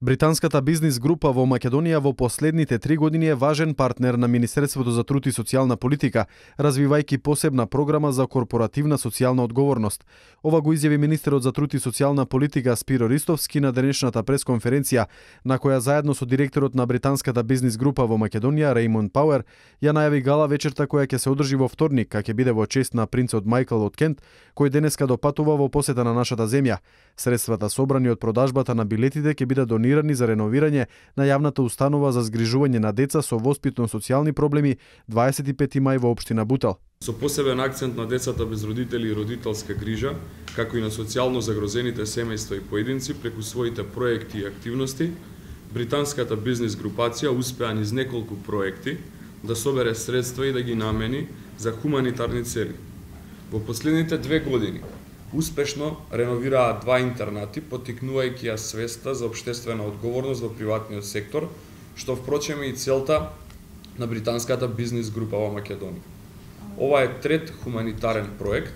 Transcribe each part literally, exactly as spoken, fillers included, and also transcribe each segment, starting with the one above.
Британската бизнис група во Македонија во последните три години е важен партнер на Министерството за труд и социјална политика, развивајќи посебна програма за корпоративна социјална одговорност. Ова го изјави министерот за труд и социјална политика Спиро Ристовски на денешната пресконференција, на која заедно со директорот на Британската бизнис група во Македонија Реймонд Пауер ја најави гала вечерта која ќе се одржи во вторник, а ќе биде во чест на принцот Мајкл од Кент, кој денеска допатува во посета на нашата земја. Средствата собрани од продажбата на билетите ќе бидат донирани за реновирање на јавната установа за згрижување на деца со воспитно-социјални проблеми дваесет и пети мај во општина Бутел. Со посебен акцент на децата без родители и родителска грижа, како и на социјално загрозените семејства и поединци преку своите проекти и активности, британската бизнис групација успеа низ неколку проекти да собере средства и да ги намени за хуманитарни цели. Во последните две години успешно реновираа два интернати, поттикнувајќи ја свеста за општествена одговорност во приватниот сектор, што впрочем е и целта на британската бизнис група во Македонија. Ова е трет хуманитарен проект,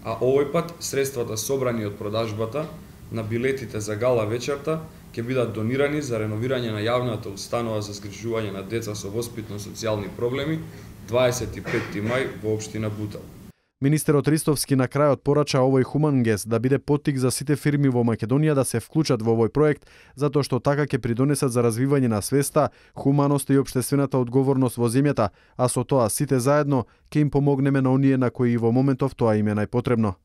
а овој пат средствата собрани од продажбата на билетите за гала вечерта ќе бидат донирани за реновирање на јавната установа за згрижување на деца со воспитно-социјални проблеми дваесет и пети мај во општина Бутел. Министерот Ристовски на крајот порача овој хуман гест да биде поттик за сите фирми во Македонија да се вклучат во овој проект, затоа што така ќе придонесат за развивање на свеста, хуманоста и општествената одговорност во земјата, а со тоа сите заедно ќе им помогнеме на оние на кои во моментов тоа им е најпотребно.